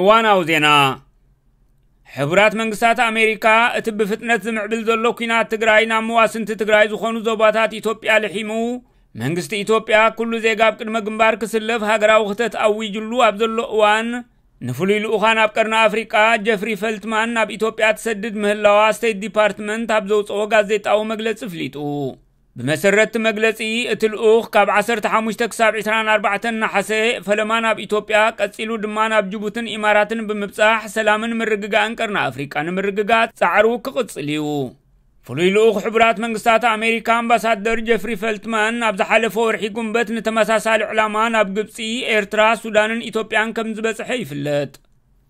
እዋናዊ ዜና። ሕቡራት መንግስታት ኣሜሪካ እቲ ብፍጥነት ዝምዕብል ዘሎ ኲናት ትግራይ ናብ መዋስንቲ ትግራይ ዝኾኑ ዞባታት ኢትዮጵያ ልሒሙ፣ መንግስቲ ኢትዮጵያ ኩሉ ዜጋ ኣብ ቅድመ ግንባር ክስለፍ ሃገራዊ ክተት ኣዊጅሉ ኣብ ዘሎ እዋን፣ ንፍሉይ ልኡኻን ኣብ ቀርኒ ኣፍሪቃ ጀፍሪ ፈልትማን ናብ ኢትዮጵያ ትሰድድ ምህላዋ ስቴት ዲፓርትመንት ኣብ ዘውፅኦ ጋዜጣዊ መግለፂ ኣፍሊጡ። ብመሰረት እቲ መግለፂ፣ እቲ ልኡኽ ካብ ዓሰርተ ሓሙሽተ ክሳብ ዕስራን ኣርባዕተን ነሓሰ ፈለማ ናብ ኢትዮጵያ፣ ቀፂሉ ድማ ናብ ጅቡትን ኢማራትን ብምብፃሕ ሰላምን ምርግጋእን ቀርኒ ኣፍሪቃ ንምርግጋፅ ፃዕሩ ክቕፅል እዩ። ፍሉይ ልኡኽ ሕቡራት መንግስታት ኣሜሪካ ኣምባሳደር ጀፍሪ ፈልትማን ኣብ ዝሓለፈ ወርሒ ጉንበት ንተመሳሳሊ ዕላማ ናብ ግብፂ፣ ኤርትራ፣ ሱዳንን ኢትዮጵያን ከም ዝበፅሐ ይፍለጥ።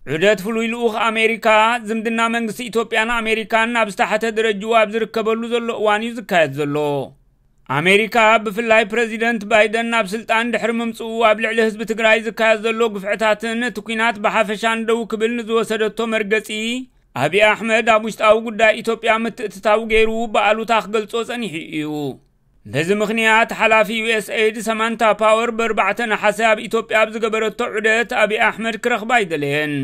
ዑደት ፍሉይ ልኡኽ ኣሜሪካ፣ ዝምድና መንግስቲ ኢትዮጵያን ኣሜሪካን ናብ ዝተሓተ ደረጅኡ ኣብ ዝርከበሉ ዘሎ እዋን እዩ ዝካየድ ዘሎ። ኣሜሪካ፣ ብፍላይ ፕረዚደንት ባይደን ናብ ስልጣን ድሕሪ ምምፅኡ፣ ኣብ ልዕሊ ህዝቢ ትግራይ ዝካየድ ዘሎ ግፍዕታትን እቲ ኲናት ብሓፈሻን ደው ክብል ንዝወሰደቶ መርገፂ፣ ኣብይ ኣሕመድ ኣብ ውሽጣዊ ጉዳይ ኢትዮጵያ ምትእትታው ገይሩ ብኣሉታ ክገልጾ ጸኒሑ እዩ። በዚ ምኽንያት፣ ሓላፊ ዩኤስኤይድ ሰማንታ ፓወር ብኣርባዕተ ነሓሰ ኣብ ኢትዮጵያ ኣብ ዝገበረቶ ዑደት፣ ኣብይ ኣሕመድ ክረኽባ ኣይደለየን።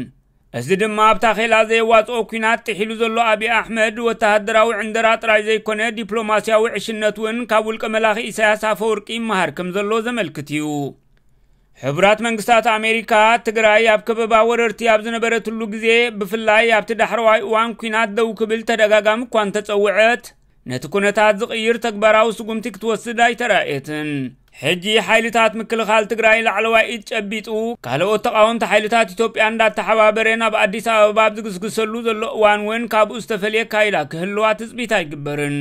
እዚ ድማ ኣብ ታኼላ ዘየዋጽኦ ኲናት ጥሒሉ ዘሎ ኣብይ ኣሕመድ፣ ወተሃደራዊ ዕንደራ ጥራይ ዘይኮነ፣ ዲፕሎማስያዊ ዕሽነት እውን ካብ ውልቀ መላኺ ኢሳያስ ኣፈወርቂ ይመሃር ከም ዘሎ ዘመልክት እዩ። ሕቡራት መንግስታት ኣሜሪካ፣ ትግራይ ኣብ ከበባ ወረርቲ ኣብ ዝነበረትሉ ግዜ፣ ብፍላይ ኣብቲ ዳሕረዋይ እዋን ኲናት ደው ክብል ተደጋጋሚ እኳ እንተጸውዐት፣ ነቲ ኩነታት ዝቕይር ተግባራዊ ስጉምቲ ክትወስድ ኣይተራእየትን። ሕጂ ሓይልታት ምክልኻል ትግራይ ላዕለዋይ ኢድ ጨቢጡ፣ ካልኦት ተቓወምቲ ሓይልታት ኢትዮጵያ እንዳተሓባበረ ናብ ኣዲስ ኣበባ ኣብ ዝግስግሰሉ ዘሎ እዋን እውን፣ ካብኡ ዝተፈልየ ኣካይዳ ክህልዋ ትጽቢት ኣይግበርን።